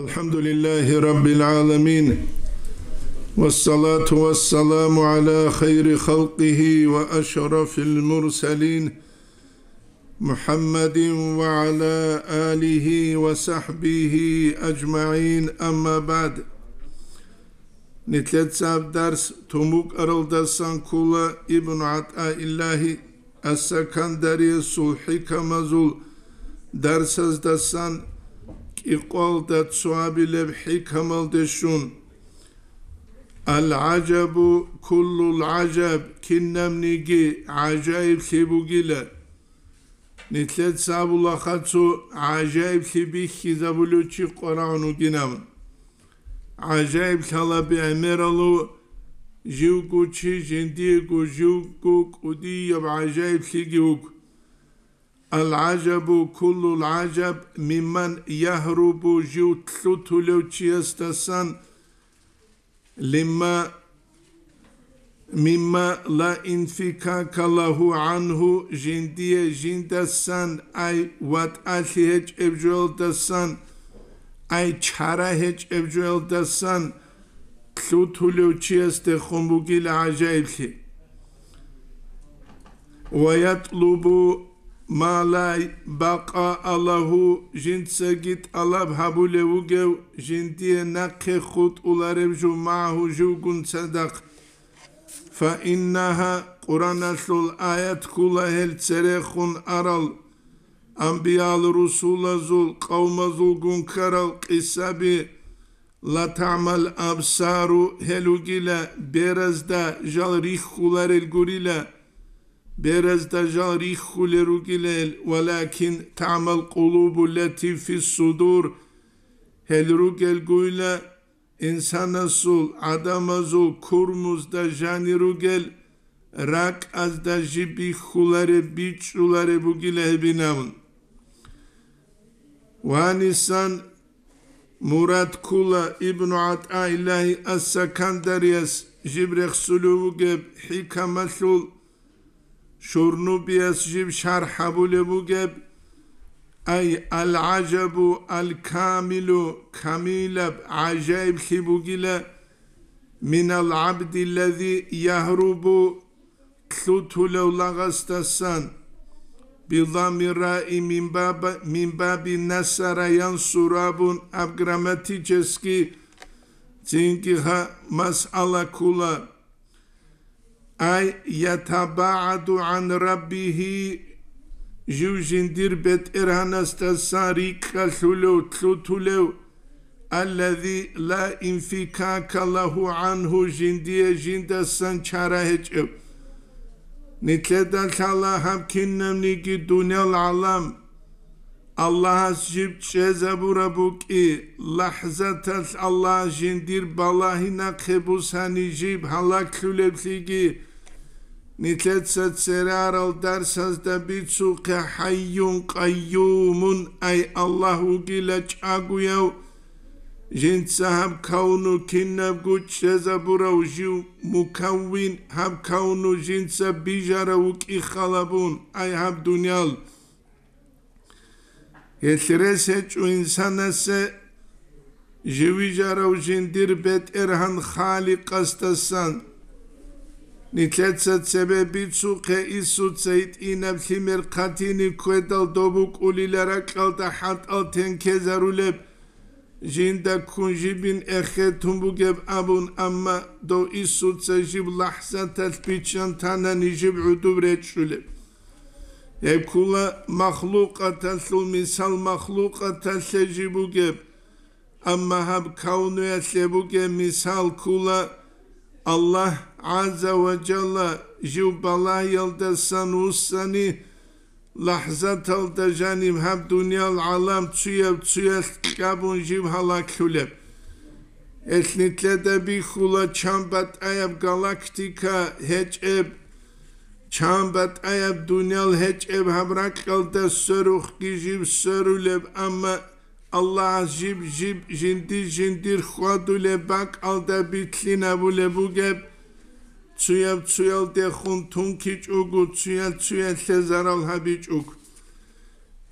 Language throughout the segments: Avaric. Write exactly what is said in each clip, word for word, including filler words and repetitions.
الحمد لله رب العالمين، والصلاة والسلام على خير خلقه وأشرف المرسلين، محمد وعلى آله وصحبه أجمعين، أما بعد. Нилъеца гьаб дарс тун букӀаралдасан ккола Ибн ГӀатӀаиллагьи Ас-Сакандариясул хӀикамазул дарсаздасан кӀикъоялда цо абилеб хӀикамалде щун. Ал-гӀажабу куллул гӀажаб, кинабниги гӀажаиблъи бугила. Нилъеца абулаха цо гӀажаиблъи бихьизабулев чи къварагӀун вугинав. ГӀажаиблъала бегӀмералъув живго чи жиндиего живго кӀудияб гӀажаиблъиги вуго. Ал-гӀажабу куллул гӀажаб мимман ягьрубу, жив лъутулев чиясдасан, лимма, мимма ла инфикака лагьу гӀангьу, жиндие жиндасан, ай ватӀалъи гьечӀеб жоялдасан, ай чара гьечӀеб жоялдасан лъутулев чиясдехун бугила гӀажаиблъи. Ва ятлубу ма ла бакъаа лагьу, жинцаги тӀалаб гьабулев вугев, жиндие нахъе хутӀулареб жо магьу живгун цадахъ. Фа иннагьа, Къураналъул аят ккола гьел церехун арал, анбиял-русулазул къавмазулгун ккарал къисаби, ла тагӀмал абсару, гьел ругила беразда жал рихьуларел гурила, беразда жал рихьулел ругила гьел, валакин тагӀмал къулубу лати фиссудур, гьел ругел гуйла инсанасул, гӀадамазул курмузда жанир ругел, ракӀазда жиб бихьулареб, бичӀчӀулареб бугила гьебинабун. Ванисан мурад ккула Ибну ГӀатӀаиллагьи Ас-Сакандарияс жиб рехсулев вугеб хӀикамалъул, Шурнубияс жиб шархӀ гьабулеб бугеб, ай, ал-гӀажабу ал-камилу, камилаб гӀажаиблъи бугила, минал гӀабдилази ягьрубу, лъутулев лагъасдасан, бидамми раи мин баба-, мин баби насара янсуру абун аб грамматически цинги гьа масъала ккула. Ай ятабагӀаду гӀан раббигьи, жив жиндир БетӀергьанасдасан рикӀкӀалъулев, лъутулев, аллази ла инфикака лагьу гӀангьу, жиндие жиндасан чара гьечӀев. Нилъеда лъала гьаб кинабниги дуниял гӀалам, Аллагьас жиб чӀезабураб букӀи, лахӀзаталъ Аллагьас жиндир балагьи нахъе бусани жиб гьалаглъулеблъиги, нилъеца церарал дарсазда бицухъе, хӀайюн къайюмун, ай Аллагь вугила чӀагояв, жинца гьаб кавну кинабго чӀезабурав жив мукаввин, гьаб кавну жинца бижарав вукӀи халабун, ай гьаб дуниял. Гьелъ рес гьечӀо инсанасе живижарав жиндир БетӀергьан Халикъасдасан. Нилъеца цебе бицухъе, Исуца гьитӀинаб лъимер хъатине ккведал доб букӀулила ракьалда хӀатӀал тенкезарулеб, жинда ккун жибин эхетун бугеб абун, амма дов Исуца жиб лахӀзаталъ биччан танани жиб гӀодоб речӀчӀулеб. Гьеб ккула махлукъаталъул мисал махлукъаталъе жиб бугеб, амма гьаб кавнуялъе бугеб мисал ккула Аллагь гӀазза ва жалла жив балагьиялдасан вуссани, лахӀзаталда жаниб гьаб дуниял гӀалам цуяб-цуялъ кьабун жиб гьалаглъулеб. Гьелъ нилъеда бихьула чан батӀаяб галактика гьечӀеб, чан батӀаяб дуниял гьечӀеб гьаб ракьалда сверухъги жиб сверулеб, амма Аллагьас жиб-жиб жинди-жиндир хьвадулеб бакӀалда битлъинабулеб бугеб, цуяб-цуялдехун тункичӀого, цуял-цуялъе зарал гьабичӀого.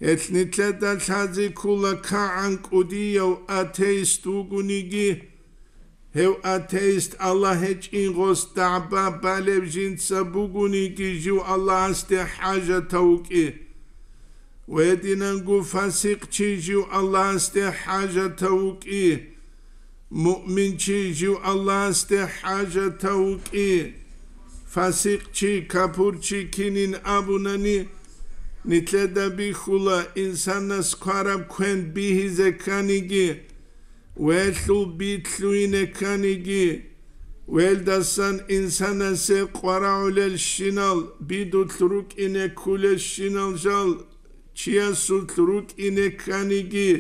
Гьелъ нилъеда лъазе ккола кагӀан кӀудияв атеист вугониги, гьев атеист Аллагь гьечӀин гъос дагӀба балев жинца бугониги, жив Аллагьасде хӀажатав вукӀи. Ва гьединанго фасикъчи жив Аллагьасде хӀажатав вукӀи. Муъминчи жив Аллагьасде хӀажатав вукӀи. Фасикъчи, капурчи кинин абунани, нилъеда бихьула, инсанас квараб квен бигьизе кканиги, велъул би лъугьине кканиги, велдасан инсанасе къварагӀулелщинал, бидулъ рукӀине ккулелщинал жал, чиясулъ рукӀине кканиги,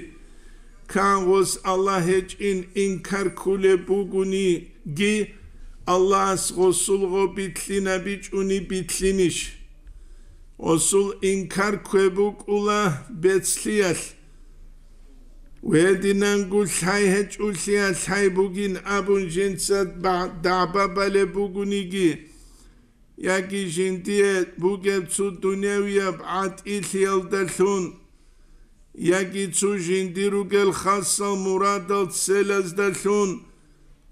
кагъос Аллагь гьечӀин инкар ккулеб бугониги, Аллагьас гъосул гъо битлъинабичӀони битлъинищ? Гъосул инкар ккве букӀула бецлъиялъ. Гьединанго лъай гьечӀолъиялъ лъай бугин абун жинца ба-, дагӀба балеб бугониги, яги жиндие бугеб цо дуневияб гӀатӀилъиялдалъун, яги цо жиндир ругел хасал мурадал целаздалъун,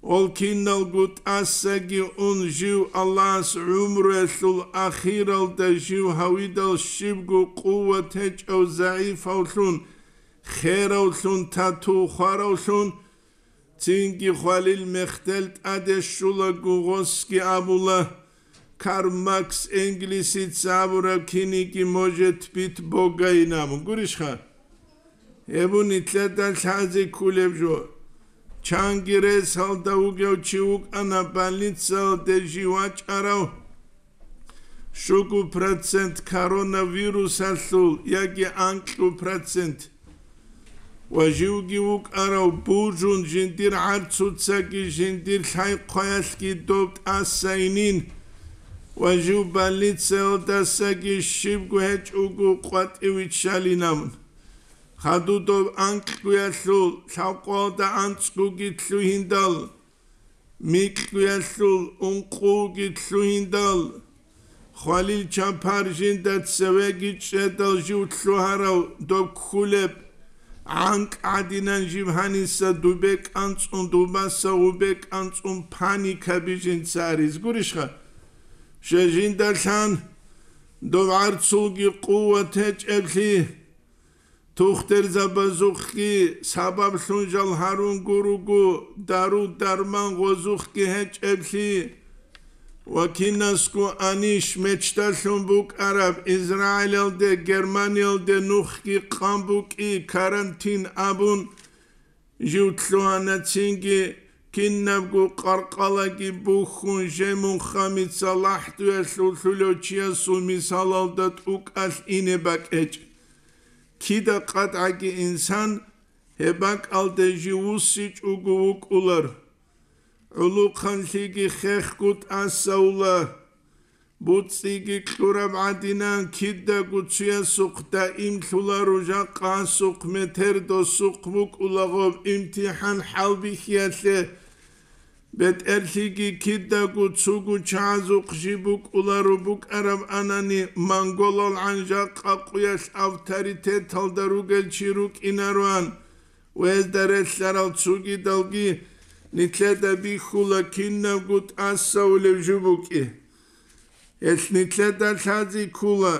гьол киналго тӀасаги ун жив Аллагьас гӀумруялъул ахиралда жив гьавидал щибго къуват гьечӀав загӀипавлъун, херавлъун, тату хваравлъун, цинги хвалил мехтел тӀаде щулаго гъосги абула, Карл Маркс Энгельсица абураб киниги может быть Бога инаб. Гурищха? Гьеб нилъеда лъазе кколеб жо. Чанги ресалда вугев чи вукӀана больницаялде жив вачӀарав, щуго процент коронавирусалъул яги анкьго процент. Ва живги вукӀарав бужун жиндир гӀарцуцаги жиндир лъай-хъваялъги доб тӀасайнин, ва жив больницаялдасаги щибго гьечӀого къватӀив виччалинавун. Хадуб доб анкьгоялъул лъабкъоялда анцӀгоги лъугьиндал, микьгоялъул ункъуги лъугьиндал, хвалил чапар жинда цевеги чӀедал жив лъугьарав доб кколеб гӀанкӀ гӀадинан жив гьаниса дубе кӀанцӀун, дубаса гъубе кӀанцӀун паника бижинца аризгурищха? Щай жинда лъан доб гӀарцулги къуват гьечӀеблъи, тухтурзабазухъги сабаблъун жал гьарун гуруго, дару-дарман гъозухъги гьечӀеблъи ва кинасго анищ мечталъун букӀараб Израилалде, Германиялде нухги къан букӀи карантин абун, жив лъугьана цинги, кинабго къаркъалаги бухьун, жемун хамица лахӀдуялъул лъулев чиясул мисалалда тӀукӀалъ ине бакӀечӀ. Кида къатӀаги инсан гьеб бакӀалде жив вуссичӀого вукӀулар. ГӀулухъанлъиги хехго тӀасаула. БуцӀцӀиги кьураб гӀадинан кидаго цуясухъ даимлъуларо жакъасухъ метер досухъ букӀулагъоб имтихӀан хӀалбихьиялъе. БетӀерлъиги кидаго цугу чагӀазухъ жиб букӀуларо букӀараб анани, монголал гӀанжакъа къуялъ авторитеталда ругел чи рукӀинароан, гьезда релълъарал цугидалги нилъеда бихьула кинабго тӀасаулев жо букӀи. Гьелъ нилъеда лъази ккула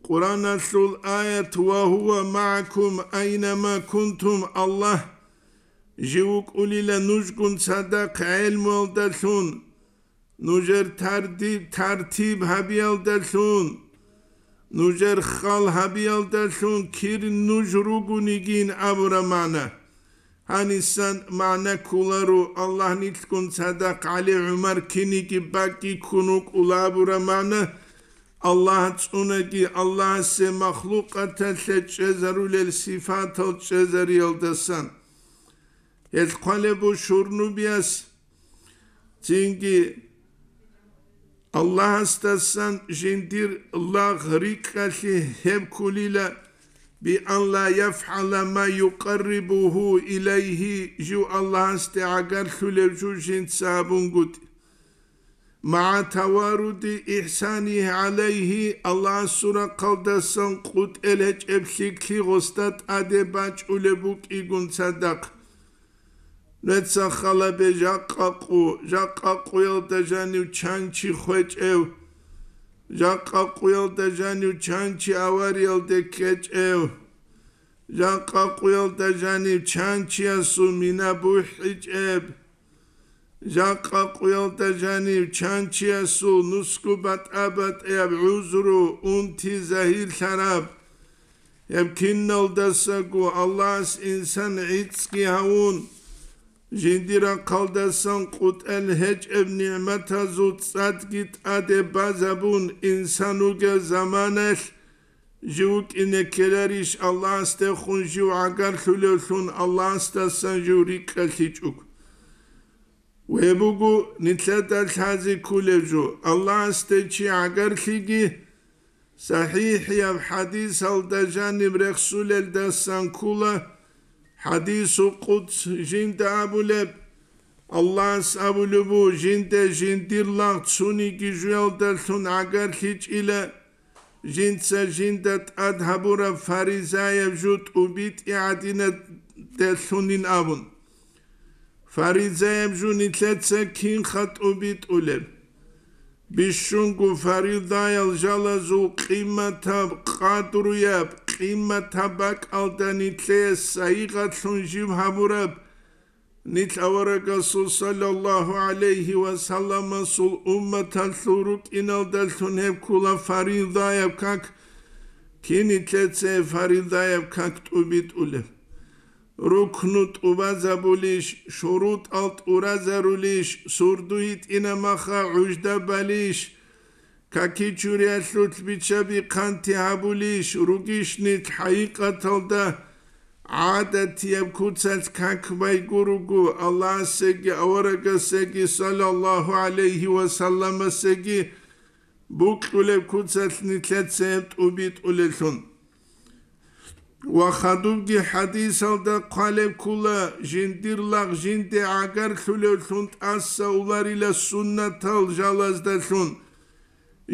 Къуръаналъул аят: «Ва гьува магӀакум айнама кунтум», Аллагь жив вукӀулила нужгун цадахъ гӀелмуялдалъун, нужер тарди-, тартиб гьабиялдалъун, нужер хал гьабиялдалъун кир нуж ругонигин абураб магӀна. Гьанисан магӀна кколаро, Аллагь нилъгун цадахъ ГӀали ГӀумар киниги бакӀги ккун вукӀула абураб магӀна, Аллагь цӀунаги, Аллагьасе махлукъаталъе чӀезарулел сифатал чӀезариялдасан. Гьелъ хъвалеб бу шурнубияс цинги Аллагьасдасан жиндир лагъ рикӀкӀалъи гьеб кколила, «би ан ла яфгӀала ма юкъаррибугьу илайгьи», жив Аллагьасде гӀагарлъулев жо жинца абунгутӀи. МагӀа таваруди ихсанихи гӀалайхи, Аллагьасул рахъалдасан къутӀел гьечӀеб лъикӀлъи гъосда тӀаде бачӀулеб букӀигун цадахъ. Нуца халабе жакъа къу, жакъа къуялда жанив чанчи хвечӀев, жакъа къуялда жанив чанчи авариялде ккечӀев, жакъа къуялда жанив чанчиясул мина бухӀичӀеб, жакъа къуялда жанив чанчиясул нусгу батӀа-батӀияб гӀузру, унти загьирлъараб, гьеб киналдасаго Аллагьас инсан гӀицӀги гьавун, жиндир рахъалдасан къутӀел гьечӀеб нигӀматазул цӀадги тӀаде базабун, инсан вугев заманалъ жив вукӀине ккеларищ Аллагьасдехун жив гӀагарлъулевлъун, Аллагьасдасан жив рикӀкӀалъичӀого? Гьеб буго нилъеда лъазе кколеб жо, Аллагьасде чи гӀагарлъиги, сахӀихӀияб хӀадисалда жаниб рехсулелдасан ккола, хӀадисул къудс жинда абулеб, Аллагьас абулеб буго, жинда жиндир лагъ цониги жуялдалъун гӀагарлъичӀила, жинца жинда тӀад гьабураб фаризаяб жо тӀубитӀи гӀадинадалъунин абун. Фаризаяб жо нилъеца кинха тӀубитӀулеб? Бищунго фаридаял жалазул къиматаб, къадруяб, къиматаб бакӀалда нилъее сайигъатлъун жив гьабураб, нилъ аварагасул саллаллагьу гӀалайгьи ва салламасул умматалъул рукӀиналдалъун гьеб ккола фаризаяб как, кин нилъеца фаризаяб как тӀубитӀулеб? Рукну тӀубазабулищ, шурутӀал тӀуразарулищ, сурду йитӀинамаха гӀужда балищ, каки чуриялъулъ биччаби хъанти гьабулищ, ругищ нилъ хӀакъикъаталда гӀадатияб куцалъ как байгуруго, Аллагьасеги аварагасеги саллаллагьу гӀалайгьи ва салламасеги букьулеб куцалъ нилъеца гьеб тӀубитӀулеллъун. Ва хадубги хӀадисалда хъвалеб ккола, жиндир лагъ жинде гӀагарлъулевлъун тӀаса уларила суннатал жалаздалъун.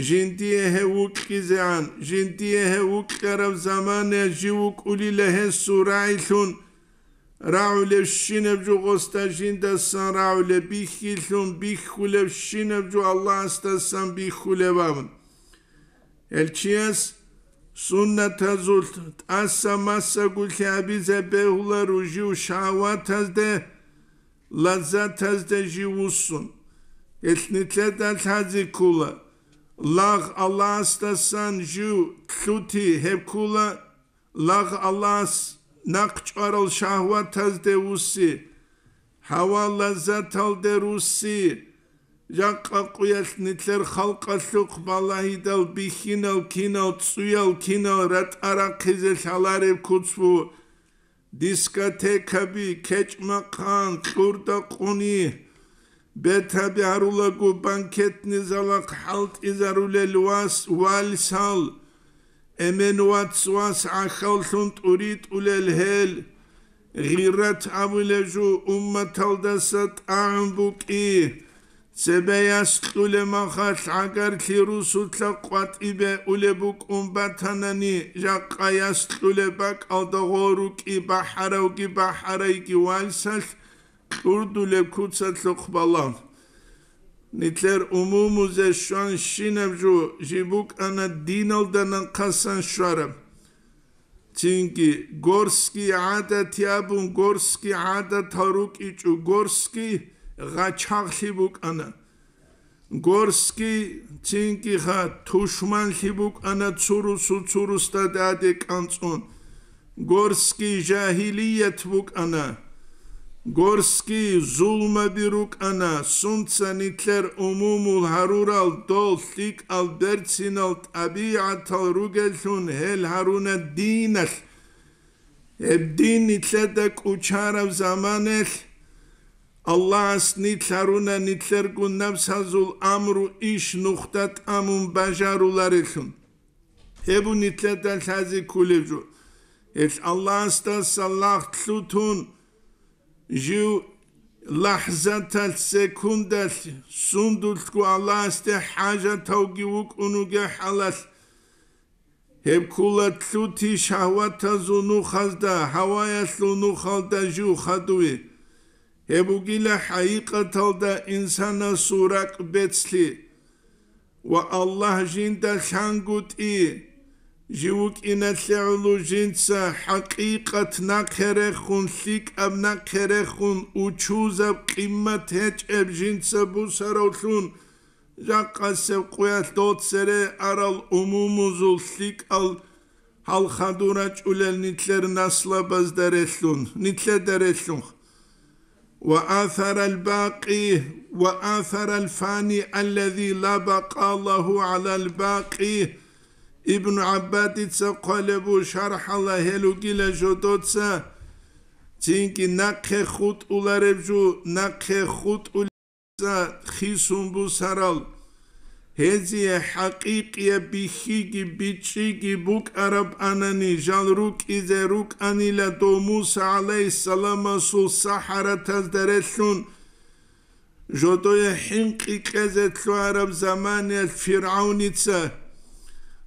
Жиндие гьев вукьизегӀан, жиндие гьев вукьараб замана жив вукӀулила гьесул рагӀилъун, рагӀулевщинаб жо гъосда жиндасан рагӀулеб, бихьилъун бихьулевщинаб жо Аллагьасдасан бихьулеб абун. Гьел чияс суннатазулъ тӀаса массагулъи абизе бегьула ружив шагьватазде, лаззатазде жив вуссун. Гьелъ нилъеда лъазе ккола, лагъ Аллагьасдасан жив лъути гьеб ккола, лагъ Аллагьас нахъ чӀварал шагьватазде вусси, гьава лаззаталде русси, жакъа къуялъ нилъер халкъалъухъ балагьидал бихьинал кинал, цӀуял кинал ратӀа рахъизе лъалареб куц бу, дискотекаби, кечӀ-макъан, кьурда-къуни, бетаби гьарулаго банкетный залахъ хӀалтӀизарулел вас, вальсал, эмен вац-вас гӀахьаллъун тӀуритӀулел гьел, гъиррат абулеб жо умматалдаса тӀагӀун букӀи, цебе яс кьулеб махалъ гӀагарлъи русулъа къватӀибе улеб букӀун батанани, жакъа яс кьулеб бакӀалда гъо рукӀи бахӀаравги бахӀарайги вальсалъ кьурдулеб куцалъухъ балагь. Нилъер умумузе щван щинаб жо жиб букӀана диналда нахъасан щвараб. Цинги горский гӀадат абун, горский гӀадатал рукӀичӀо, горский гъачагълъи букӀана. Горский цинги ха тушманлъи букӀана, цурусу цурусда даде кӀанцӀун. Горский жагьилият букӀана. Горский зулмаби рукӀана, сунца нилъер умумул гьарурал дол лъикӀал берцинал тӀабигӀатал ругеллъун гьел гьаруна диналъ. Гьеб дин нилъеда кӀучараб заманалъ, Аллагьас нилъ гьаруна нилъерго напсазул амру иш нухда тӀамун бажаруларелъун. Гьеб бу нилъеда лъазе кколеб жо. Гьелъ Аллагьасдаса лагъ лъутун, жив лахӀзаталъ, секундалъ сундулъго Аллагьасде хӀажатавги вукӀун вугев хӀалалъ, гьеб ккола лъути шагьватазул нухазда, гьаваялъул нухалда жив хадуе. Гьеб бугила хӀакъикъаталда инсанасул ракӀ бецлъи. Ва Аллагь жинда лъангутӀи, жив вукӀиналъе гӀоло жинца хӀакъикъат нахъе рехун, лъикӀаб нахъе рехун, учузаб къимат гьечӀеб жинца бусаравлъун, жакъасеб къуялъ дол цере арал умумузул лъикӀал гьал хадур рачӀулел нилъер наслабазда релълъун, нилъеда релълъун. Ва асарал бакъи, ва асарал фани аллази ла бакъа лагьу гӀалал бакъи. Ибн ГӀаббадица хъвалеб бу шархӀала гьел ругила жодоца, цинги нахъе хутӀулареб жо, нахъе хутӀулеб хисун бусарал, гьезие хӀакъикъияб бихьиги бичӀчӀиги букӀараб анани, жал рукӀизе рукӀанила дов Муса гӀалайгьиссаламасул сахаратазда релълъун, жодое хӀинкъи кьезе лъугьараб заманиялъ ФиргӀавница.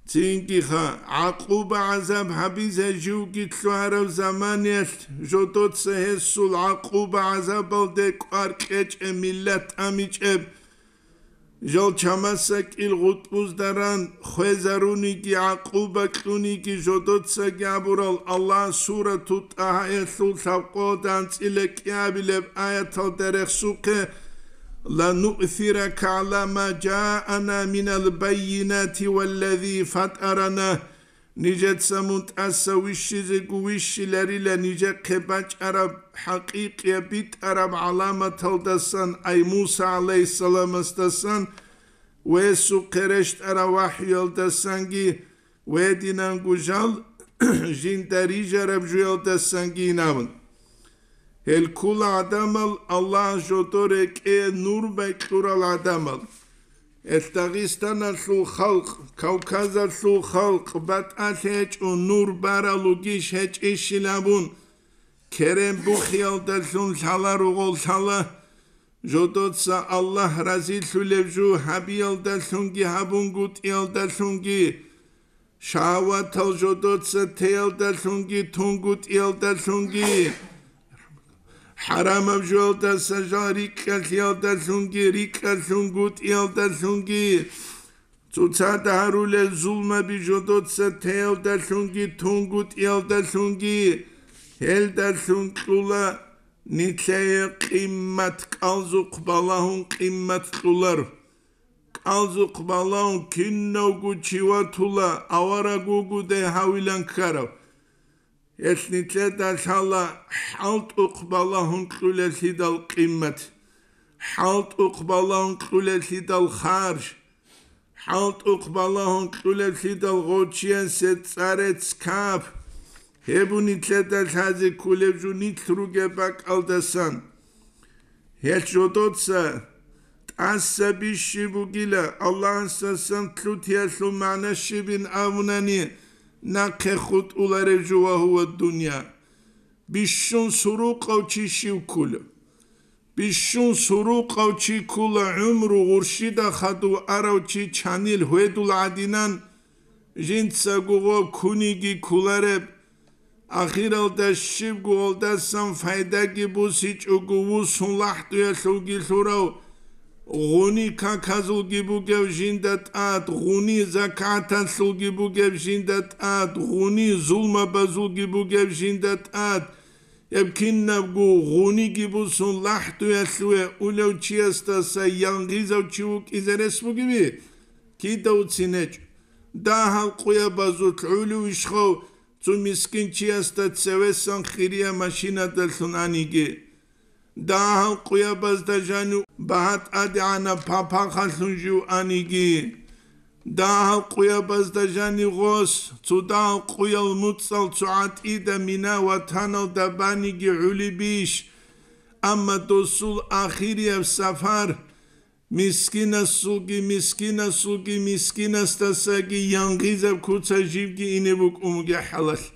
Цинги-ха, гӀакъуба-гӀазаб гьабизе живги лъугьараб заманиялъ жодоца гьесул гӀакъуба-гӀазабалде кӀвар кьечӀеб миллат тӀамичӀеб, жал чамасакӀил гъутӀбузда ран хвезаруниги гӀакъуба кьуниги жодоцаги абурал Аллагь Сурату ТӀагьаялъул лъабкъоялда анцӀила кӀиабилеб аяталда рехсухъе: «Лануъсирака гӀала ма жаана минал баййинати валлази фатарана». Нижеца мун тӀаса вищизего вищиларила нижехъе бачӀараб хӀакъикъияб битӀараб гӀаламаталдасан, ай Муса гӀалайгьиссаламасдасан ва гьесухъе рещтӀараб вахӀюялдасанги, ва гьединанго жал жинда рижараб жуялдасанги инабун. Гьел ккола гӀадамал Аллагь жодо рекӀее нур байкьурал гӀадамал. Гьел Дагъистаналъул халкъ, Кавказалъул халкъ батӀалъи гьечӀо нур баралугищ гьечӀищил абун, керен бухиялдалъун лъала ругъол лъала, жодоца Аллагь разилъулеб жо гьабиялдалъунги гьабунгутӀиялдалъунги, шагьаватал жодоца теялдалъунги тунгутӀиялдалъунги, хӀарамаб жоялдаса жал рикӀкӀалъиялдалъунги рикӀкӀалъунгутӀиялдалъунги, цоцазда гьарулел зулмаби жодоца теялдалъунги тунгутӀиялдалъунги, гьелдалъун кьула нилъее къиммат, кӀалзухъ балагьун къиммат кьулар. КӀалзухъ балагьун кинавго чи ватула, авараг вугодай гьавилан ккарав. Гьелъ нилъеда лъала хӀалтӀухъ балагьун кьулеллъидал къиммат, хӀалтӀухъ балагьун кьулеллъидал харж, хӀалтӀухъ балагьун кьулеллъидал гъов чиясе цӀарец кап. Гьеб нилъеда лъазе кколеб жо нилъ ругеб бакӀалдасан. Гьелъ жодоца тӀаса бищи бугила, Аллагьасдасан лъутиялъул магӀна щибин абунани, нахъе хутӀулареб жо ва гьува дунъя. Бищун сурукъав чи щив ккула? Бищун сурукъав чи ккула гӀумру гъурщида хадув арав чи чанил гьведул гӀадинан, жинцаго гъо куниги кколареб, ахиралда щибго гъолдасан пайдаги бусичӀого вусун лахӀдуялъулги лъурав, гъуни каказулги бугев жинда тӀад, гъуни закаталъулги бугев жинда тӀад, гъуни зулмабазулги бугев жинда тӀад, гьеб кинабго гъуниги бусун лахӀдуялъуве улев чиясдаса янгъизав чи вукӀизе рес бугеви? Кида уцин гьечӀо. Дагьал къуябазулъ гӀолев ишгъав цо мискин чиясда цевесан хирия машинадалъун аниги, дагьал къуябазда жанив багьа тӀадегӀанаб папахалъун жив аниги, дагьал къуябазда жанив гъос цо дагьал къуял муцӀал цо гӀатӀида мина ватаналда баниги гӀолебищ? Амма досул ахирияб сапар мискинасулги, мискинасулги, мискинасдасаги янгъизаб куца живги ине букӀун бугеб хӀалалъ.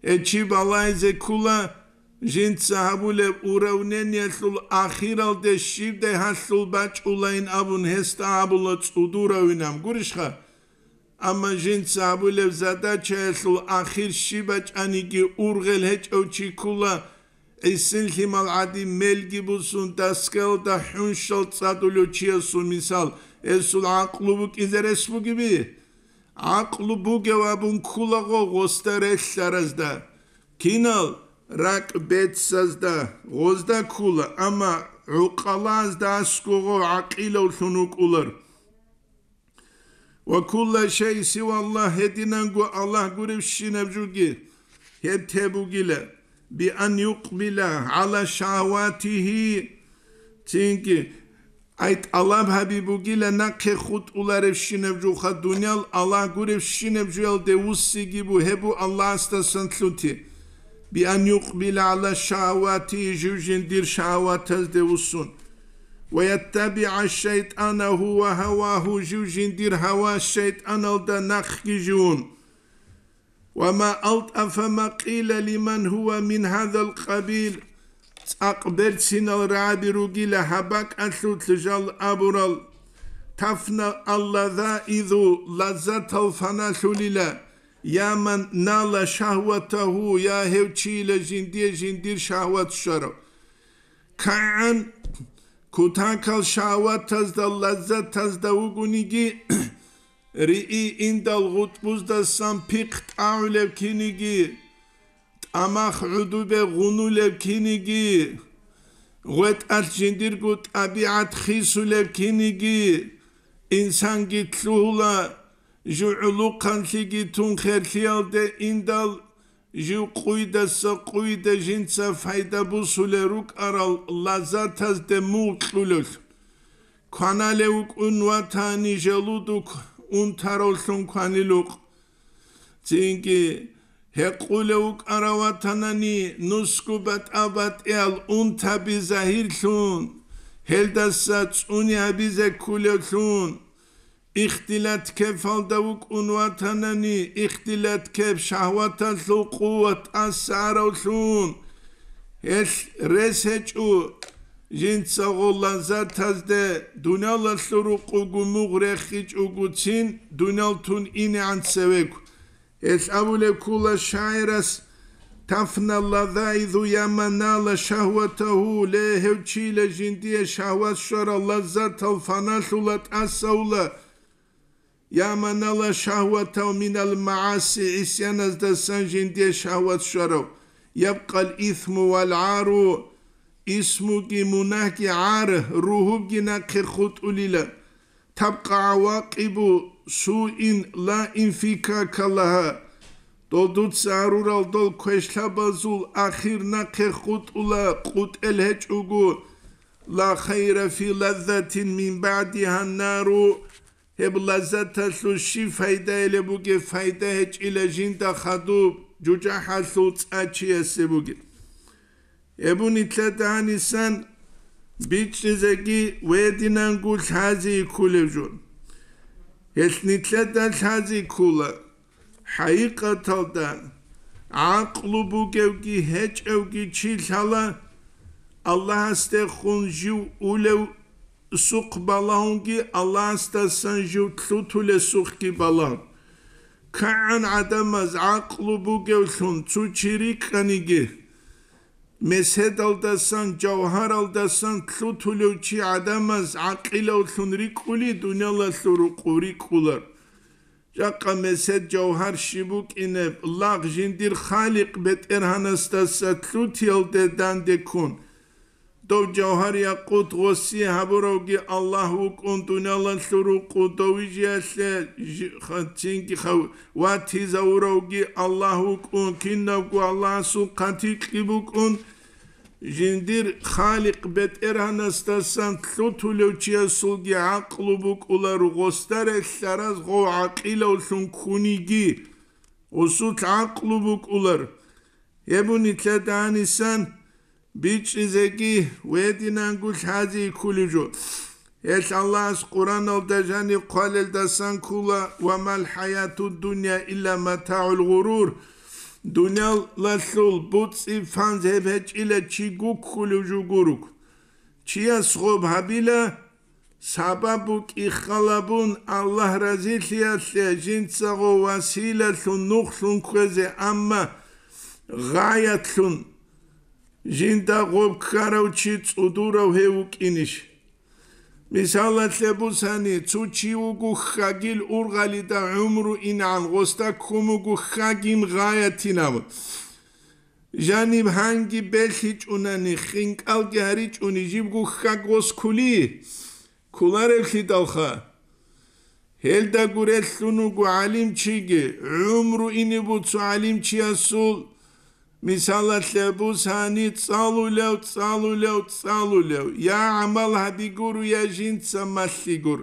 Гьев чи балайзе ккула, Жинца гьабулеб уравнениялъул ахиралде щибдай гьалъул бачӀулайин абун гьесда абула цӀудуравинан, гурищха? Амма жинца гьабулеб задачаялъул ахир щиб бачӀаниги ургъел гьечӀев чи ккула, гӀисин лъимал гӀадин мелги бусун, доскаялда хӀунщал цӀадулев чиясул мисал, гьесул гӀакълу букӀизе рес бугеби? ГӀакълу бугев абун ккулаго гъосда релълъаразда. Кинал? РакӀ бецазда, гъозда ккула, амма гӀукъалазда аскӀого гӀакъилавлъун вукӀулар. Ва кулла шай сива Аллагь, гьединанго Аллагь гуревщинаб жуги, гьеб те бугила, би ан юкъбила гӀала шагьаватигьи, цинги ай тӀалаб гьаби бугила нахъе хутӀуларевщинаб жуха, дуниял Аллагь гуревщинаб жуялде вуссиги бу, гьеб бу Аллагьасдасан лъути. Биан юкъбила гӀала шагьавати, жив жиндир шагьаватазде вуссун. Ва яттабигӀа шайтӀана гьува гьавагьу, жив жиндир гьава шайтӀаналда нахъги живун. Ва ма алтӀафа ма къила лиман гьува мин гьадал къабил, цӀакъ берцинал рагӀаби ругила гьаб бакӀалъулъ жал абурал: тафна аллазаизу, лаззатал фаналъулила, я ман нала шагьватагьу, я гьев чийила жиндие жиндир шагьват щварав. КигӀан кутакал шагьватазда, лаззатазда вугониги, риъи индал гъутӀбуздасан пихъ тӀагӀулев киниги, тӀамах гӀудубе гъунулев киниги, гъветӀалъ жиндирго тӀабигӀат хисулев киниги, инсанги лъугьула, жугӀулухъанлъиги тун херлъиялде индал, жив къуйдаса къуйда жинца пайда бусулел рукӀарал лаззатазде мугъ кьулелъ. Кваналев вукӀун ватани, желудок унтаравлъун кванилукъ. Цинги гьекъулев вукӀарав ватанани, нусгу батӀа-батӀиял унтаби загьирлъун, гьелдаса цӀуни гьабизе ккулевлъун. Ихтилат кепалда вукӀун ватанани, ихтилат кеп шагьваталъул къуват тӀасаравлъун, гьелъ рес гьечӀо, жинцаго лаззатазде дуниялалъул рукъуго мугъ рехичӀогоцин, дуниял тун инегӀан цевего. Гьелъ абулеб ккула шагӀирас: тафна лазаизу я ман нала шагьватагьу, ле, гьев чийила жиндие шагьват щварал лаззатал фаналъула, тӀасаула, я ман нала шагьватагьу минал магӀаси, гӀисяназдасан жиндие шагьват щварав, ябкъал исму вал гӀару, исмуги мунагьги гӀар, ругьубги нахъе хутӀулила. Табкъа гӀавакъибу суин ла инфикака лагьа. Дол дуца гьарурал дол квешлъабазул ахир нахъе хутӀула, къутӀел гьечӀого, ла хайра фи лаззатин мин баъдигьа нару, гьеб лаззаталъул щиб пайдаялеб бугеб, пайда гьечӀила жинда хадуб жужахӀалъул цӀа чиясе бугеб. Гьеб нилъеда гьанисан бичӀчӀизеги ва гьединанго лъази кколеб жо. Гьелъ нилъеда лъази ккола. ХӀакъикъаталда, гӀакълу бугевги гьечӀевги чи лъала, Аллагьасдехун жив улев сухъ балагьунги, Аллагьасдасан жив лъутулев сухъги балагьун. КигӀан гӀадамаз гӀакълу бугевлъун цо чи рикӀкӀаниги, меседалдасан, жавгьаралдасан лъутулев чи гӀадамаз гӀакъилавлъун рикӀкӀули, дуниялалъул рукъу рикӀкӀулар. Жакъа месед, жавгьар щиб букӀинеб, лагъ жиндир Халикъ БетӀергьанасдаса лъутиялде данде ккун. Дов жавгьар-якъут гъосие гьабуравги Аллагь вукӀун, дуниялалъул рукъу довижиялъе жи-, ха-, цинги ха-, ватизавуравги Аллагь вукӀун, кинабго Аллагьасул хъатикьги букӀун, жиндир Халикъ БетӀергьанасдасан лъутулев чиясулги гӀакълу букӀула, ругъосда релълъараз гъов гӀакъилавлъун ккуниги, гъусулъ гӀакълу букӀулар. Гьеб нилъеда гьанисан бичӀчӀизеги ва гьединанго лъази кколеб жо. Гьелъ Аллагьас Къуръаналда жаниб хъвалелдасан ккола: «Ва мал хӀаятуд дунья илля матагӀул гъурур». Дуниялалъул буцӀи-фанз гьеб гьечӀила чи гуккулев жо гуруг. Чияс гъоб гьабила, сабаб букӀи халабун Аллагь разилъиялъе жинцаго василалъун нухлъун кквезе, амма гъаятлъун жинда гъоб ккарав чи цӀудурав гьев вукӀинищ? Мисалалъе бусани, цо чи вуго хьагил ургъалида гӀумру ингӀан, гъосда ккун вуго хьагин гъаятинав. Жаниб гьанги белъичӀунани, хинкӀалги гьаричӀуни, жибго хьаг гъос ккули, кколаревлъидалха. Гьелда гурелъун вуго гӀалимчиги, гӀумру ине буцо гӀалимчиясул, мисалалъе бусани, цӀалулев, цӀалулев, цӀалулев, я гӀамал гьабигур, я жинца малъигур.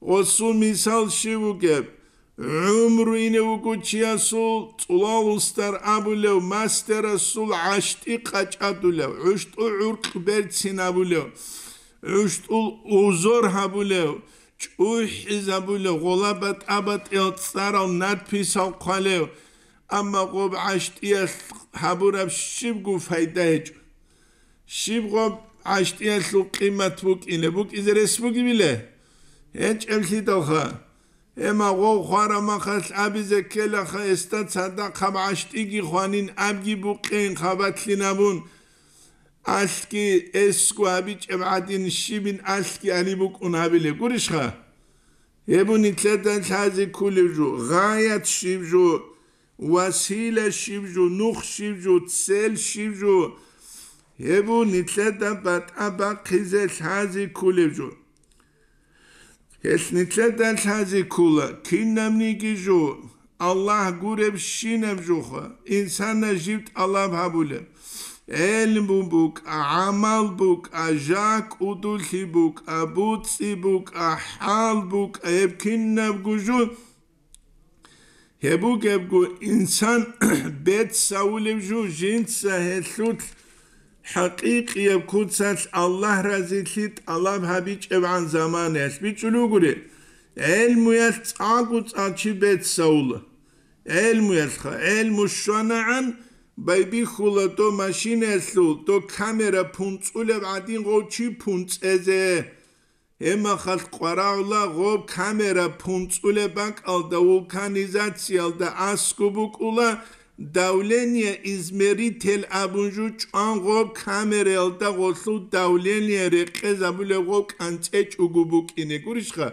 Гъосул мисал щив вугеб? ГӀумру ине вуго чиясул, цӀулал устар абулев, мастерасул гӀащтӀи къачӀадулев, гӀущтӀул гӀуркь берцин абулев, гӀущтӀул узор гьабулев, чӀухӀизабулев, гъола батӀа-батӀиял цӀарал надписал хъвалев, амма гъоб гӀащтӀиялъ гьабураб щибго пайда гьечӀо. Щиб гъоб гӀащтӀиялъул къимат букӀине, букӀизе рес бугебиле? ГьечӀеблъидалха. Гьема гъов хварамахалъ абизе ккелаха, гьесда цадахъаб гӀащтӀиги хванин абги букъин хабалъин абун, алъги эсго гьабичӀеб гӀадин щибин алъги ани букӀун гьабилеб гурищха? Гьеб нилъеда лъазе кколеб жо, гъаят щиб жо, васила щиб жо, нух щиб жо, цель щиб жо, гьеб нилъеда батӀа бахъизе лъазе кколеб жо. Гьелъ нилъеда лъазе ккола, кинабниги жо, Аллагь гуребщинаб жоха, инсанас жив тӀалаб гьабулеб: гӀелму букӀа, гӀамал букӀа, жакӀ удуллъи букӀа, буцӀи букӀа, хӀал букӀа, гьеб кинабго жо. Гьеб бугебго, инсан бецавулев жо жинца гьелъулъ хӀакъикъияб куцалъ Аллагь разилъи тӀалаб гьабичӀебгӀан заманаялъ бичӀчӀулев гури, гӀелмуялъ цӀакъго цӀакъ чи бецавула. ГӀелмуялъха, гӀелму щванагӀан байбихьула дов машинаялъул, дов камера пунцӀулеб гӀадин гъов чи пунцӀезе. Гьеб мехалъ къварагӀула гъоб камера пунцӀулеб бакӀалда, вулканизациялда аскӀоб букӀула, давление измеритель абун жо чӀван гъоб камераялда гъолъул давление рекъезабулеб гъоб кӀанцӀечӀого букӀине гурищха?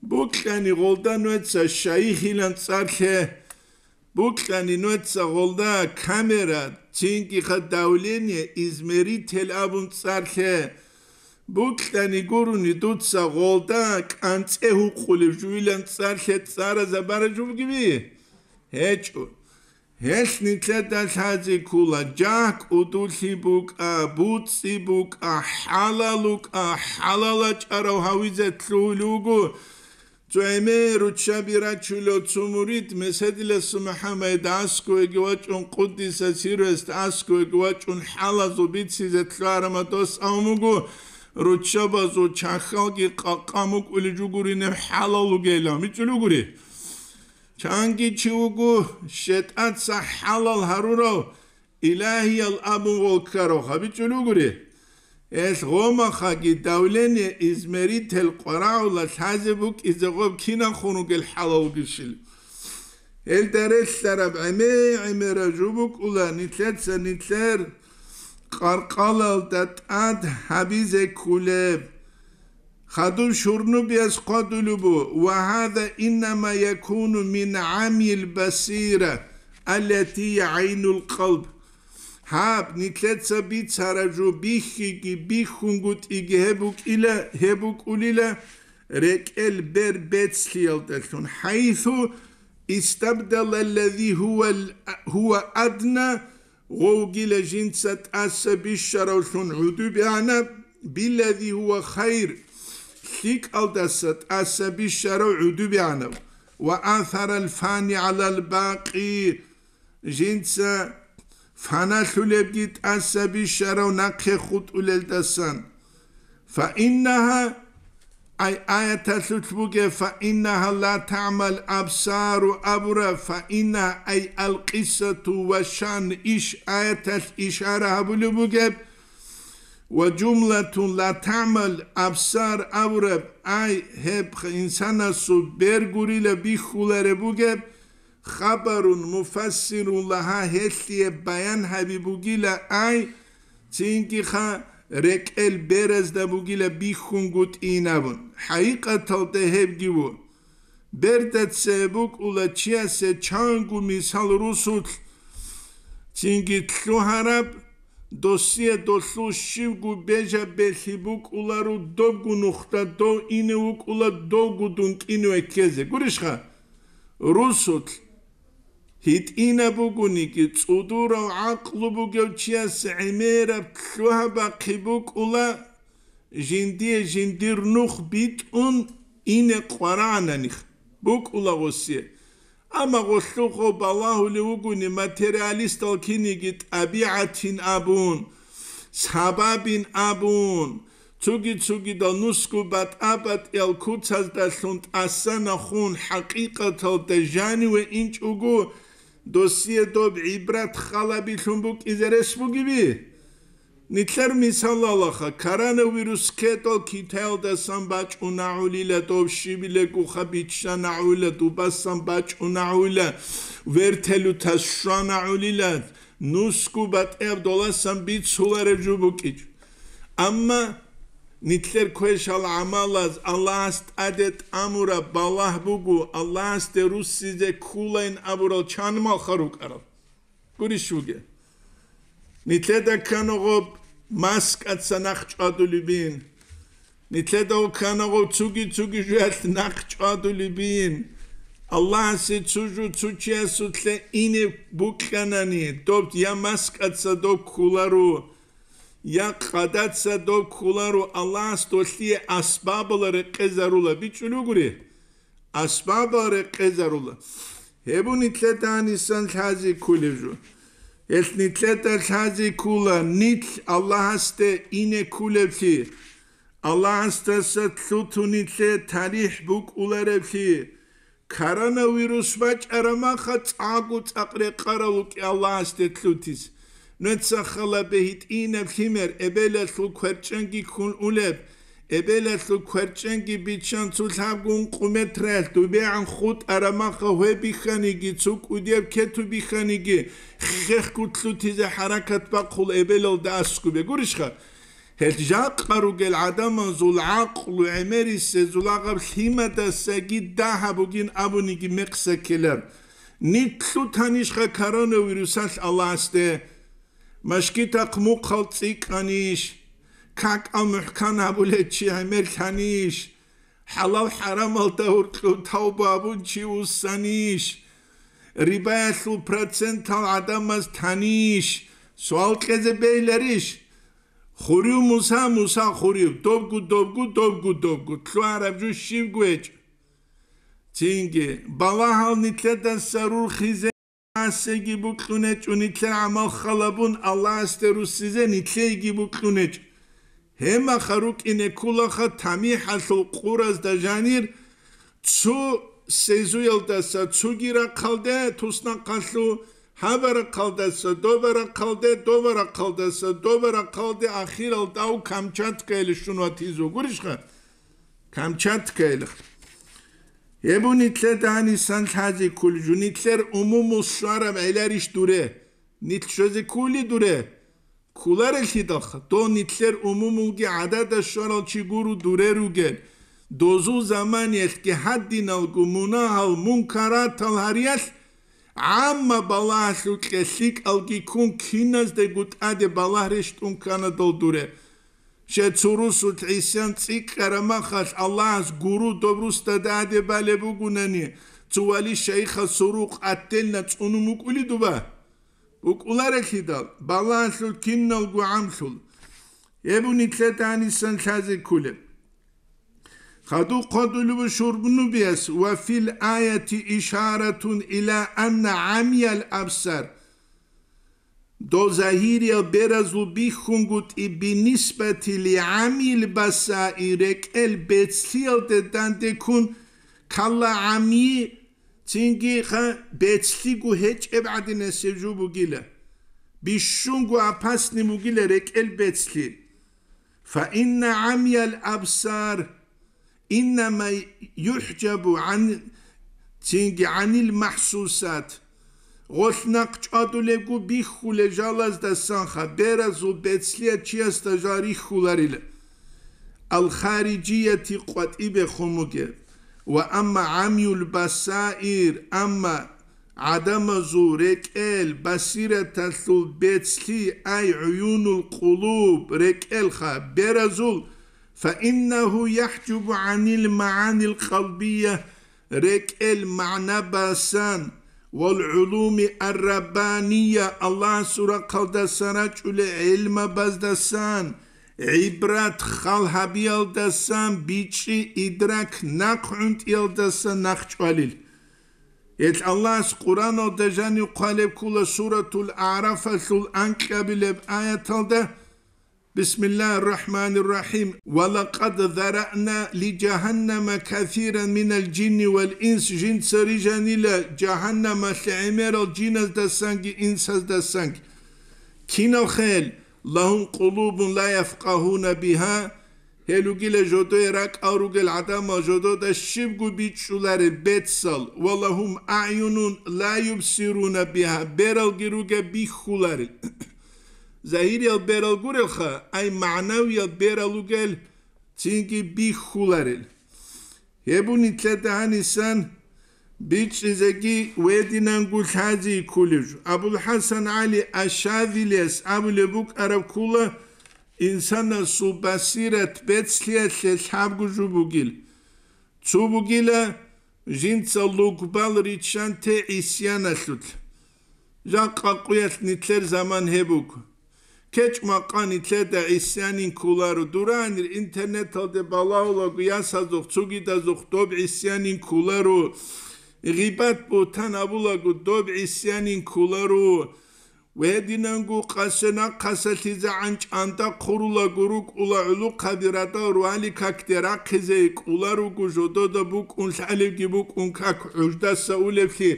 Букьани гъолда нуца шайихилан цӀар лъе. Букьани нуца гъолда камера, цинги-ха давление измеритель абун цӀар лъе. Букьани гурони дуца гъолда кӀанцӀе гьукъулев жугьилан цӀар лъе цӀаразабара жо бугеби? ГьечӀо. Гьелъ нилъеда лъазе ккола, жакӀ удуллъи букӀа, буцӀи букӀа, хӀалал букӀа, хӀалал чӀарав гьавизе лъугьулев вуго. Цо гӀемер руччаби рачулев цо мурид Меседиласул МухӀаммад аскӀовеги вачӀун, къуддиса сирругьу, аскӀовеги вачӀун, хӀалазул бицизе лъугьарамадос авун вуго, руччабазул чахьалги къакъа мукӀулей жугуринеб хӀалал вугейилан, бичӀчӀулев гури. Чанги чи вуго, щетӀаца хӀалал гьарурав, илагьиял абун гъол ккарав гьабичӀулев гури. Гьелъ гъомахаги давление измеритель къварагӀула лъазе букӀизе гъоб кинаб хун ругел хӀалал вугищил. Гьелда релълъараб гӀемер-гӀемераб жо букӀула нилъеца нилъер къаркъалалда тӀад гьабизе кколеб. Хадуб шурнубиялъ хъвадулеб буго: «Ва гьаза иннама якуну мин гӀамил басира, аллати гӀайнул къалб». Гьаб, нилъеца бицараб жо бихьиги бихьунгутӀиги гьеб букӀила, гьеб букӀулила рекӀел бер бецлъиялдалъун, хӀайсу истабдала аллази гьуа, гьуа адна, гъовгила жинца тӀаса бищаравлъун гӀудубигӀанаб, биллази гьуа хайр, лъикӀалдаса тӀаса бищарав гӀудубигӀанаб, ва асарал фани гӀалал бакъи, жинца фаналъулебги тӀаса бищарав нахъе хутӀулелдасан. Фаиннагьа Ай аяталъулъ бугеб, «Фаиннаха ла таъмал абсару» абураб, «фаиннаха», ай алкъисату ва шан, иш аяталъ ишара гьабулеб бугеб, ва жумлатун ла таъмал абсар абураб, ай гьеб инсанасул бер гурила бихьулареб бугеб, хабарун муфассирун лагьа, гьелъие баян гьаби бугила, ай, цинги-ха рекӀел беразда бугила бихьунгутӀин абун. ХӀакъикъаталда гьебги ву. Берда цебе букӀула чиясе чанго мисал русулъ цинги лъугьараб, досие долъул щибго бежаб белъи букӀуларо, добго нухда дов ине вукӀула, довго дун кӀине веккезе. Гурищха? Русулъ гьитӀинаб бугониги, цӀудурав гӀакълу бугев чияс гӀемераб лъугьа-бахъи букӀула, жиндие жиндир нух битӀун ине къварагӀананихъ букӀула гъосие. Амма гъолъухъо балагьулев вугони материалистал киниги тӀабигӀатин абун, сабабин абун, цуги-цугидал нусго батӀа-батӀиял куцаздалъун тӀасанахун хӀакъикъаталда жаниве инчӀого, досие доб гӀибрат халабилъун букӀизе рес бугеби? Нилъер мисалалаха, коронавирус ккедал Китаялдасан бачӀунагӀулила, дов щибилегоха биччанагӀулила, дубасан бачӀунагӀулила, вертолетас щванагӀулила, нусго батӀияб доласан бицулареб жо букӀичӀ. Амма нилъер квешал гӀамалаз Аллагьас тӀаде тӀамураб балагь буго, Аллагьасде руссизе кколайин абурал чанмалха рукӀарал. Гурищ вугев. Нилъеда кканаго маскаца нахъ чӀвадулебин. Нилъеда кканаго цуги-цуги жуялъ нахъ чӀвадулебин. Аллагьасе цо жо цо чиясулъе ине букьанани, доб я маскаца доб кколаро, я къадаца доб кколаро, Аллагьас долъие асбабала рекъезарула, бичӀчӀулев гури. Асбабал рекъезарула. Гьеб нилъеда гьанисан лъази кколеб жо. Гьелъ нилъеда лъази ккола нилъ Аллагьасде ине кколеблъи, Аллагьасдаса лъутун нилъе талихӀ букӀулареблъи, коронавирус бачӀараб маха цӀакъго цӀакъ рекъарал вукӀи Аллагьасде лъутизе. Нужеца хала бегьитӀинаб лъимер, эбелалъул кверчӀенги ккун улеб, эбелалъул кверчӀенги биччан цо лъабго ункъо метраялъ дубегӀан хутӀараб маха гьве бихьаниги, цо кӀудияб кету бихьаниги, хехго лъутизе хӀаракат бахъул эбелалда аскӀубе. Гурищха? Гьел жакъа ругел гӀадамазул гӀакълу гӀемерисезул агъаб лъимадасаги дагьаб бугин абуниги мекъса ккелар. Нилъ лъутанищха коронавирусалъ Аллагьасде? Машгитахъ мухъал цӀикӀкӀанищ? КакӀал мухӀкан гьабулев чи гӀемерлъанищ? ХӀалал-хӀарамалда гьоркьоб тавба гьабун чи вуссанищ? Рибаялъул процентал гӀадамаз танищ? Суал кьезе бегьиларищ? Хурив Муса, Муса хурив, добгу, добгу, добгу, добгу, лъугьараб жо щибго гьечӀо. Цинги, балагьал нилъедаса рурхизе Аллагьасеги букьунечӀо, нилъер гӀамал халабун Аллагьасде руссизе нилъейги букьунечӀо. Гьемаха рукӀине кколаха тамихӀалъул къуразда жанир цо сезуялдаса цоги рахъалде туснахъалъу, гьаба рахъалдаса доба рахъалде, доба рахъалдаса доба рахъалде, ахиралда ав Камчаткаялде щун ватизе вугурищха? Камчаткаялда. Гьеб нилъеда гьанисан лъази кколеб жо, нилъер умумул щвараб гӀеларищ дуре? Нилъ щвезе ккули дуре? Кколарелъидалха, дов нилъер умумулги гӀадада щварал чи гуро дуре ругел. Дозул заманиялъги гьадиналго мунагьал, мункаратал гьариялъ гӀамма балагьалъукье лъикӀалги ккун киназдего тӀаде балагь рещтӀун ккана дол дуре. Щай цо русулъ гӀисян цӀикӀкӀараб махалъ Аллагьас гуро доб русда тӀаде балеб бугунани, цо вали шайихас цо рукъ аттелна цӀунун вукӀули дуба? БукӀуларелъидал, балагьалъул киналго гӀамлъул. Гьеб нилъеда гьанисан лъазе кколеб. Хадуб хъвадулеб шурбнубияс: «Ва фил аяти ишаратун ила анна гӀамиял абсар». Дол загьириял беразул бихьунгутӀи бинисбати ли гӀамил басаи рекӀел бецлъиялде дандеккун калла гӀамйи, цинги ха бецлъиго гьечӀеб гӀадинасеб жо бугила. Бищунго апасни бугила рекӀел бецлъи. Фаинна гӀамял абсар иннама юхӀжабу гӀан-, цинги гӀанил махӀсусат. Гъолъ нахъ чӀвадулебго бихьулел жалаздасанха беразул бецлъияб чиясда жал рихьуларила. Ал-хариджияти къватӀибехун бугеб. Ва амма гӀамюл басаир, амма гӀадамазул рекӀел басираталъул бецлъи, ай гӀуюнул къулуб, рекӀелха беразул, фаиннагьу яхӀжубу гӀанил магӀанил къалбия, рекӀел магӀна басан, вал гӀулуми ар-раббания, Аллагьасул рахъалдасан рачӀулел гӀелмабаздасан, гӀибрат хал гьабиялдасан, бичӀчӀи идрак нахъ гӀунтӀиялдасан нахъ чӀвалил. Гьел Аллагьас Къуръаналда жанив хъвалеб ккула Суратул АгӀрафалъул анкьабилеб аяталда: Бисмиллагьир рахӀманир рахӀим. Ва лакъад зараъна ли жагьаннама касиран минал жинни вал инс, жинца рижанила жагьаннамалъе гӀемерал жиназдасанги инсаздасанги. Кинал хел, лагьум къулубун ла яфкъагьуна бигьа, гьел ругила жодое ракӀал ругел гӀадамал жодода щибго бичӀчӀуларел бецал, ва лагьум аъюнун ла юбсируна бигьа, бералги ругел бихьуларел. Загьириял берал гурелха, ай магӀнавиял берал ругел, цинги бихьуларел. Гьеб нилъеда гьанисан бичӀчӀизеги гьединанго лъази кколеб жо. АбулхӀасан ГӀали Аш-Шазилияс абулеб букӀараб ккула, инсанасул басират бецлъиялъе лъабго жо бугил. Цо бугила, жинца лугбал риччанте гӀисяналъулъ. Жакъа къуялъ нилъер заман гьеб буго. КечӀ-макъа нилъеда гӀисянин кколаро, дуранир интернеталде балагьулаго ясазухъ, цогидазухъ доб гӀисянин кколаро, гъибат-бугьтан абулаго доб гӀисянин кколаро, ва гьединанго къасе нахъаса лъизегӀан чӀанда хъурулаго рукӀула гӀулухъаби радал руали какде рахъизе кӀоларуго жодода букӀун лъалебги букӀун как гӀуждаса улеблъи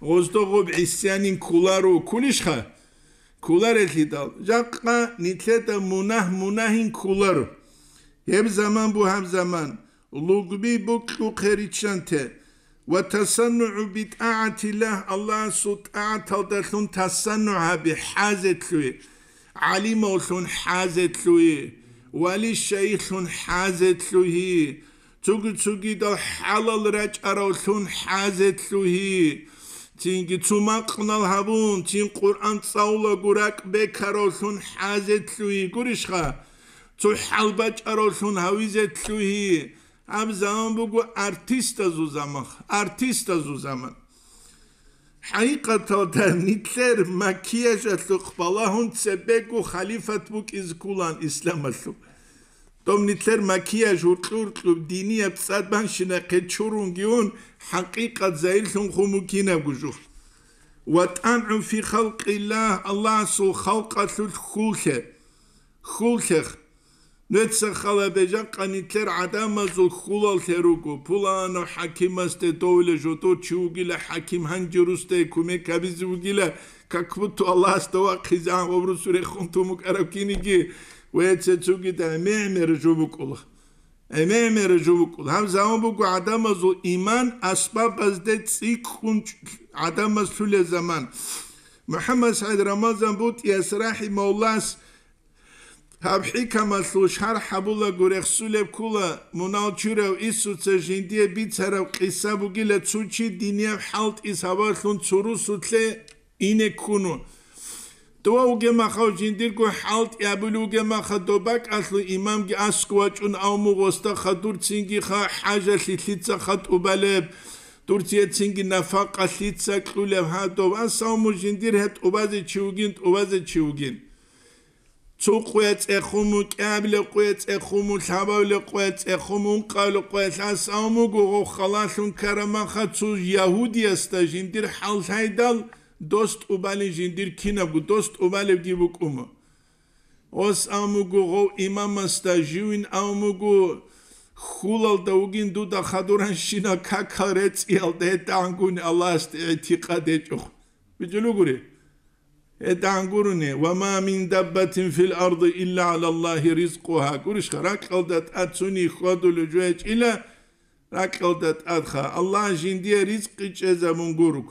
гъоздо гъоб гӀисянин кколаро, кколищха? Кколарелъидал, жакъа нилъеда мунагь мунагьин кколаро. Гьеб заман бу гьаб заман, лугби букьухъе риччанте, ва тасаннугӀу битӀагӀатиллагь, Аллагьасул тӀагӀаталдалъун тасаннугӀ гьабе, хӀазетлъуе, гӀалимавлъун хӀазетлъуе, вали-шайихлъун хӀазетлъуе, цуги-цугидал хӀалал рачӀаравлъун хӀазетлъугьи, цинги цу макънал гьабун, цин Къуръан цӀалулаго ракӀ бекаравлъун хӀазетлъугьи гурищха, цу хӀал бачӀаравлъун гьавизетлъугьи, гьаб заман буго артистазул заман, артистазул заман. ХӀакъикъаталда нилъер макияжалъухъ балагьун цебего халифат букӀизе кколаан исламалъул. Доб нилъер макияж гьуркьу-гьуркьуб динияб цӀад банщинахъе чурунги ун, хӀакъикъат загьирлъун хъумукинабго жо. Ва тӀамгӀу фи халкъиллагь, Аллагьасул халкъалъулъ хьуллъе. Хьуллъех. Нуца халабе жакъа нилъер гӀадамазул хьулаллъе руго, пуланав хӀакимасде довила жодор чи вугила, хӀаким гьанже русдае кумек гьабизе вугила, как будто Аллагьасда вахъизе гьаб русу рехун тун букӀараб киниги, ва цецуги да гӀемер-гӀемер жо букӀула. ГӀемер-гӀемер жо букӀула. Гьаб заман буго гӀадамазул иман асбабазде цӀикӀкӀун гӀадамаз лъулел заман. МухӀаммад СагӀид Рамазан БутӀияс рахӀимауллас гьаб хӀикамалъул шархӀ гьабулаго рехсулеб ккула, мунал чурав Исуца жиндие бицараб къиса бугила, цо чи динияб хӀалтӀи сабаблъун цо русулъе ине ккуну. Дова вугеб махав жиндирго хӀалтӀи абулев вугеб маха, доб бакӀалъул имамги аскӀов вачӀун, авму гъосда хадур цинги ха хӀажалъи лъица ха тӀубалеб, дур цие цинги нафакъа лъица кьулеб гьадов, ас авму жиндир гьеб тӀубазе чи вугин, тӀубазе чи вугин. Цо къуя цӀехуму, кӀиабилеб къуя цӀехуму, лъабабилеб къуя цӀехуму, ункъабилеб къуя лъасаумуго гъов халалъун карамаха цо ягьудиясда жиндир хӀал лъайдал, Дос тӀубалин жиндир кинабго дос тӀубалебги букӀума. Ос амуго гъов имамасда живин амуго хьулалда вугин дуда хадуранщина какал рецӀиялда гьедагӀангуни Аллагьасде гӀитикъад гьечӀо. БичӀулугури? ГьедагӀан гурони: «Ва ма мин даббатин фил арди илла гӀала Аллагьи ризкъугьа». Гурищха, ракьалда тӀад цуни хьвадулев жо гьечӀила, ракьалда тӀадха Аллагь жиндие ризкъи чӀезабун гуруг.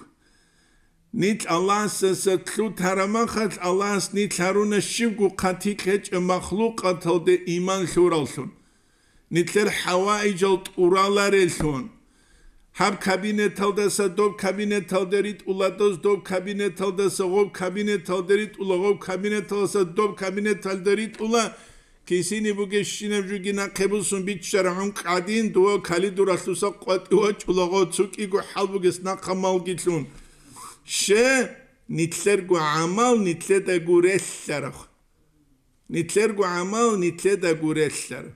Нилъ Аллагьасдаса лъутарамахалъ, Аллагьас нилъ гьаруна щибго хъатикь гьечӀеб махлукъаталде иман лъураллъун. Нилъер хӀаваижал тӀуралареллъун. Гьаб кабинеталдаса доб кабинеталде ритӀула дос, доб кабинеталдаса гъоб кабинеталде ритӀула, гъоб кабинеталдаса доб кабинеталде ритӀула, кисини бугебщинаб жуги нахъе бусун биччара гӀункӀ гӀадин, дова калидуралъуса къватӀи вачӀула гъо цукӀиго хӀал бугес нахъа малгилъун. Ще, нилъерго гӀамал нилъедаго релълъараб. Нилъерго гӀамал нилъедаго релълъар.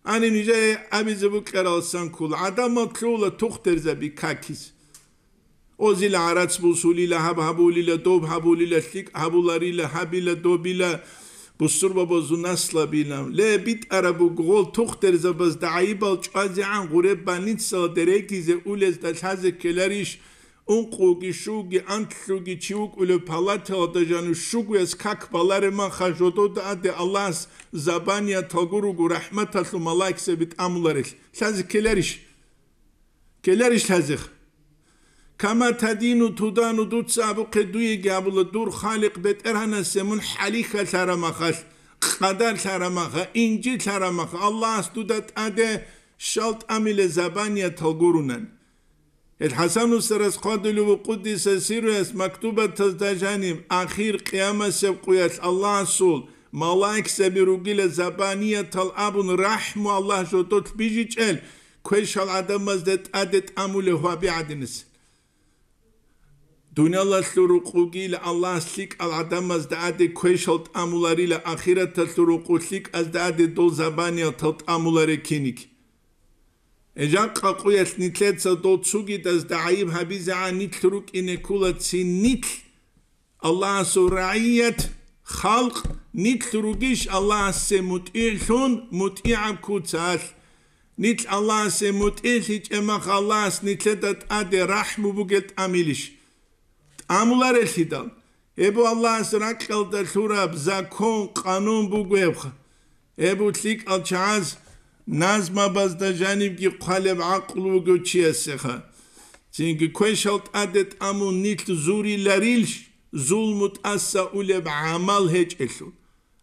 Гьаниб нижее абизе букӀаралсан ккола, гӀадамал лъугьула тухтерзаби какиз. Озил гӀарац бусулила, гьаб гьабулила, доб гьабулила, лъикӀ гьабуларила, гьабила, добила, бусурбабазул наслабила. Ле, битӀараб буго, гъол тухтерзабазда гӀайибал чӀвазегӀан гъуреб больницалде регизе улезда лъазе ккеларищ? Ункъуги, щуги, анлъуги чи вукӀулев палаталда жану щугояс как балареб маха жодода аде Аллагьас забанияталго руго рахӀматалъул малаикзаби тӀамуларел. Лъазе ккеларищ? Ккеларищ лъазех? «Кама тадину тудану», дуца абухъе дуеги абула, дур Халикъ БетӀергьанасе мун хӀалихьалъараб махалъ, къадарлъараб маха, инжитлъараб маха, Аллагьас дуда тӀаде щал тӀамиле забаниятал гурунан. Гьел ХӀасан устарас хъвадулев вукъудиса сируяс мактубатазда жаниб, ахир къиямасеб къуялъ Аллагьасул малаикзаби ругила забаниятал абун рахӀму Аллагь жодолъ бижичӀел, квешал гӀадамазда тӀаде тӀамулев гьаби гӀадинас. Дуниялалъул рукъугила Аллагьас лъикӀал гӀадамазда аде квешал тӀамуларила, ахираталъул рукъу лъикӀазда аде дол забаниятал тӀамуларе киниг. Жакъа къуялъ нилъеца дол цугидазда гӀайиб гьабизегӀан нилъ рукӀине ккола цин нилъ, Аллагьасул рагӀият, халкъ, нилъ ругищ Аллагьасе мутӀигӀлъун, мутӀигӀаб куцалъ. Нилъ Аллагьасе мутӀигӀлъичӀеб мах Аллагьас нилъеда тӀаде рахӀму бугел тӀамилищ? ТӀамуларелъидал. Гьеб Аллагьас ракьалда лъураб закон, къанун буго гьебха. Гьеб лъикӀал чагӀаз назмабазда жанибги хъвалеб гӀакълу вугев чиясеха. Цинги квешал тӀаде тӀамун нилъ зуриларилщ, зулму тӀаса улеб гӀамал гьечӀелъул.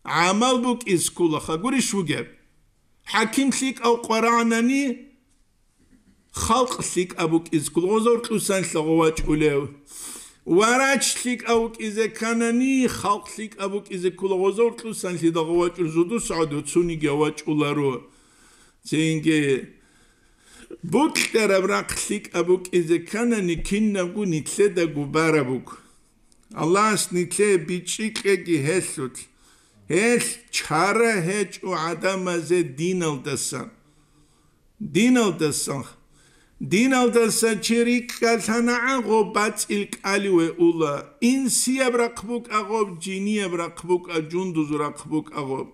ГӀамал букӀиз кколаха гурищ вугеб? ХӀаким лъикӀав къварагӀанани, халкъ лъикӀаб букӀизе ккола гъозор кьусанлъа гъовачӀулев. Варач лъикӀав вукӀизе кканани, халкъ лъикӀаб букӀизе ккола гъозор кьусанлъида гъовачӀул зудус гӀодов цуниги авачӀуларо. Цинги букьараб рахъ лъикӀаб букӀизе кканани, кинабго нилъедаго бараб буго. Аллагьас нилъее бичӀчӀи кьеги гьелъулъ. Гьелъ чара гьечӀо гӀадамазе диналдасан. Диналдасан. Диналдаса чи рикӀкӀалъанагӀан гъоб бацӀил кӀаливе ула. Инсияб рахъ букӀа гъоб, жинияб рахъ букӀа, жундуз рахъ букӀа гъоб.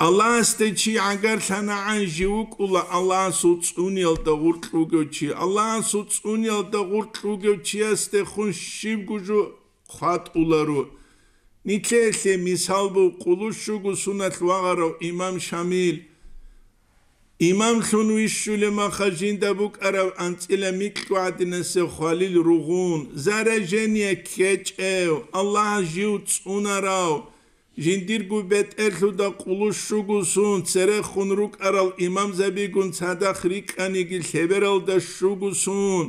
Аллагьасде чи гӀагарлъанагӀан жив вукӀула Аллагьасул цӀуниялда гъуркь вугев чи. Аллагьасул цӀуниялда гъуркь вугев чиясдехун щибго жо хъватӀуларо. Нилъеелъе мисал буго къулущуго суналъ вагъарав имам Шамил. Имамлъун вищулеб маха жинда букӀараб анцӀила микьго гӀадинасеб хвалил ругъун, заражение ккечӀев, Аллагьас жив цӀунарав, жиндирго бетӀерлъуда къулущуго сун церехун рукӀарал имамзабигун цадахъ рикӀкӀаниги лъебералда щуго сун,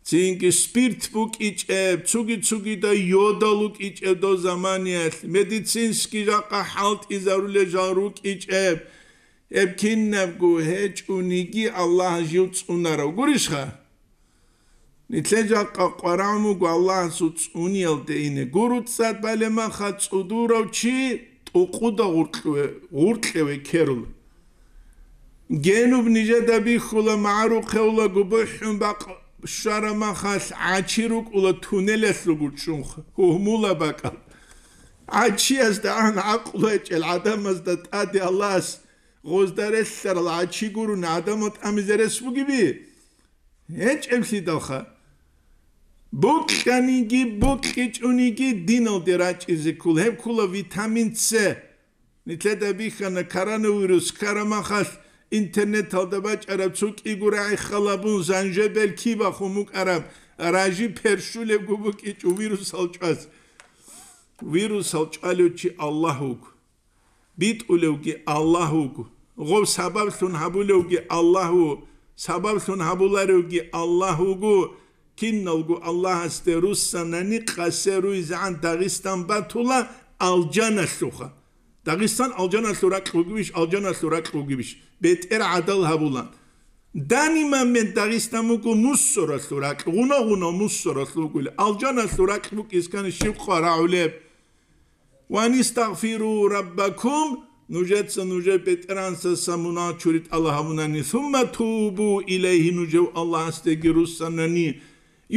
цинги спирт букӀичӀеб, цуги-цугида йодал рукӀичӀеб дов заманиялъ, медицинский жакъа хӀалтӀизарулел жал рукӀичӀеб, гьеб кинабго гьечӀониги Аллагь жив цӀунарав гурищха? Нилъер жакъа къварагӀун вуго Аллагьасул цӀуниялде ине. Гуруцад балемаха цӀудурав чи тӀукъуда гъуркьве, гъуркьеве ккерул. Генуб нижеда бихьула, магӀарухъе ула, губухӀун бакъ-, Щвараб махалъ гӀачи рукӀула туннелалъул гучӀчӀунха, гьугьмула бакӀал. ГӀачиясда ан гӀакълу гьечӀел гӀадамазда тӀаде Аллагьас гъозда релълъарал гӀачи гурони гӀадамал тӀамизе рес бугеби? ГьечӀеблъидалха. Бокьаниги, бокьичӀониги диналде рачӀизе ккола. Гьеб ккола витамин С. Нилъеда бихьана коронавирус ккараб махалъ интернеталда бачӀараб цо кӀиго рагӀи халабун занжебел киб бахун букӀараб, ражи першулебго букӀичӀо вирусал чӀваз. Вирусал чӀвалев чи Аллагь вуго. БитӀулевги Аллагь вуго. Гъов сабаблъун гьабулевги Аллагь вуго. Сабаблъун гьабуларевги Аллагь вуго. Киналго Аллагьасде руссанани къасе руйзегӀан Дагъистан батула алжаналъуха. Дагъистан алжаналъул ракь вугевищ, алжаналъул ракь вугевищ? БетӀер гӀадал гьабулан. Даниман мен Дагъистан буго мусоралъул ракь, гъуна-гъуна мусоралъул вугулеб. Алжаналъул ракь букӀискани щиб къварагӀулеб? «Ва анистагъфиру раббакум», нужеца нужер БетӀергьанасдаса мунагь чури тӀалаб гьабунани, «сумма тубу илайгьи», нужев Аллагьасдеги руссанани,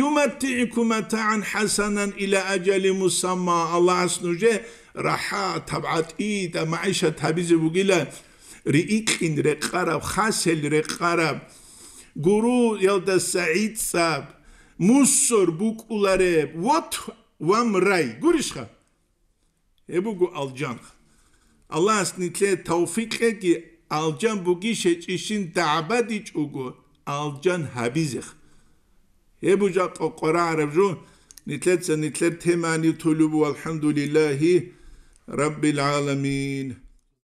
«юматтигӀикум матагӀан хӀасанан ила ажали мусамма», Аллагьас нужер рахӀат, гьаб гӀатӀида, магӀишат гьабизе бугила, рикьин рекъараб, хасел рекъараб, гуруялдаса гӀицӀаб, мусор букӀулареб, вот вам рай. Гурищха? Гьеб буго алжан. Аллагьас нилъее тавфикъ кьеги, алжан бугищ гьечӀищин дагӀбадичӀого, алжан гьабизех. Гьеб бужа къокъорагӀараб жо, нилъеца нилъер темани тулубу, алхӀамдулиллагьи раббил гӀаламин.